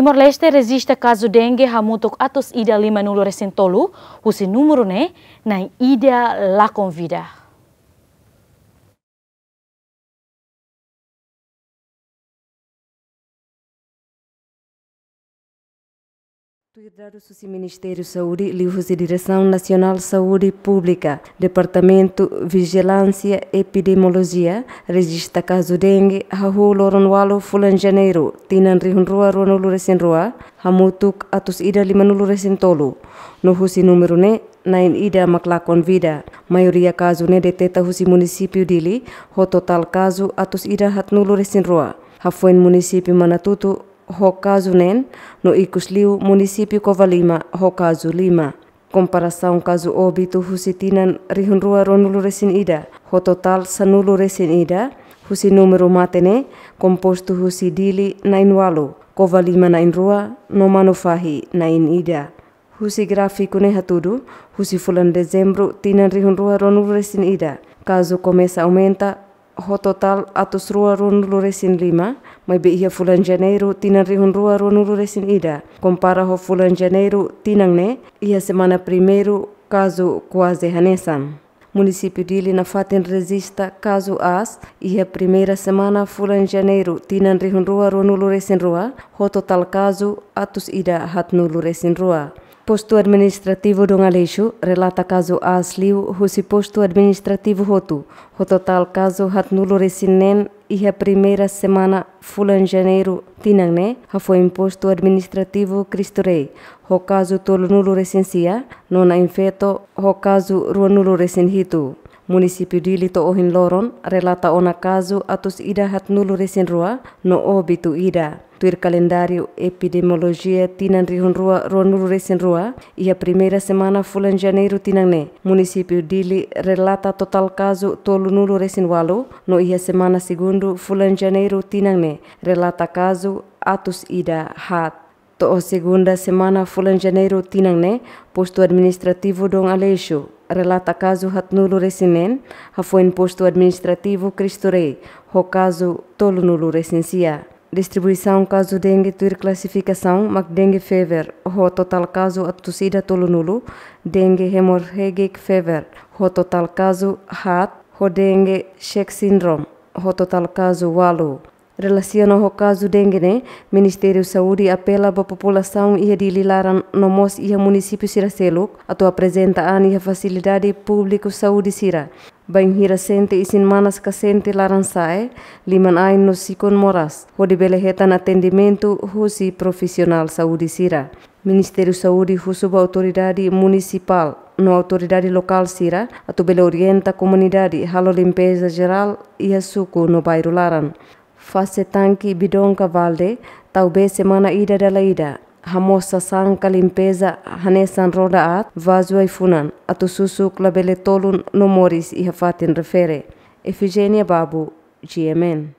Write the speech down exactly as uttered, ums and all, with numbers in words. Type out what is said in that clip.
Timor-Leste rejista kazu dengue hamutuk atus ida lima-nulu resin tolu, husi númeru ne'e na'in ida lakon vida. Tuir dadus husi Ministériu Saúde, liuhusi Diresaun Nasionál Saúde Públika, Departamentu Vijilánsia Epidemiolojia, rejista kazu dengue hahú loron ualu fulan Janeiru, tinan rihun rua ruanulu resin rua, hamutuk atus ida lima-nulu resin tolu. No husi númeru ne'e, na'in ida mak lakon vida. Maioria kazu ne'e deteta husi munisípiu Dili, ho totál kazu atus ida haatnulu resin rua. Hafoin munisípiu Manatuto ho kazu neen, no ikus liu munisípiu Covalima ho kazu lima. Komparasaun kazu óbitu husi tinan rihun rua ruanulu resin ida, ho totál sanulu resin ida, husi númeru mate ne'e, kompostu husi Dili na'in ualu, Covalima na'in rua, no Manufahi na'in ida. Husi gráfiku ne'e hatudu, husi fulan Dezembru, tinan rihun rua ruanulu resin ida, kazu komesa aumenta, ho totál atus rua ruanulu resin lima, maibé iha fulan Janeiru, tinan rihun rua ruanulu resin ida, kompara ho fulan Janeiru, tinan ne'e, iha semana primeiru, kazu kuaze hanesan. Munisípiu Dili nafatin rejista kazu aas, iha primeira semana fulan Janeiru, tinan rihun rua ruanulu resin rua, ho totál kazu atus ida haatnulu resin rua. Postu Administrativu Dom Aleixo relata kazu aas liu husi postu administrativu hotu, ho totál kazu haatnulu resin neen iha primeira semana fulan Janeiru tinan ne'e, hafoin postu administrativu Cristo Rei, ho kazu tolunulu resin sia, no Na'in Feto, ho kazu ruanulu resin hitu. Munisípiu Dili to'o ohin loron relata ona kazu atus ida haatnulu resin rua, no óbitu ida. Tuir kalendáriu epidemiolojia tinan rihun rua ruanulu resin rua, iha primeira semana fulan Janeiru tinan ne'e, munisípiu Dili relata totál kazu tolunulu resin ualu, no iha semana segundu fulan Janeiru tinan ne'e, relata kazu atus ida haat. To'o segunda semana fulan Janeiru tinan ne'e, postu administrativu Dom Aleixo relata kazu haatnulu resin neen, hafoin postu administrativu Cristo Rei, ho kazu tolunulu resin sia. Distribuisaun kazu dengue tuir klasifikasaun mak dengue fever, ho totál kazu atus ida tolunulu, dengue hemorrhagic fever, ho totál kazu haat, ho dengue Schett syndrome, ho totál kazu ualu. Relasiona ho kazu dengue ne'e, Ministériu Saúde apela ba populasaun iha Dili laran no mós iha munisípiu sira seluk, atu aprezenta an iha fasilidade públiku saúde sira. Bainhira sente isin-manas ka sente laran-sa'e, liman-ain no sikun moras, hodi bele hetan atendimentu husi profisionál saúde sira. Ministériu Saúde husu ba autoridade munisipál no autoridade lokál sira atu bele orienta komunidade halo limpeza jerál iha suku no bairru laran. Fase tanke bidon ka balde, tau bee semana ida dala ida. Hamoos sasán ka limpeza hanesan roda aat, vazu ai-funan, atu susuk labele tolun no moris iha fatin refere. Efigénia Babu, G M N.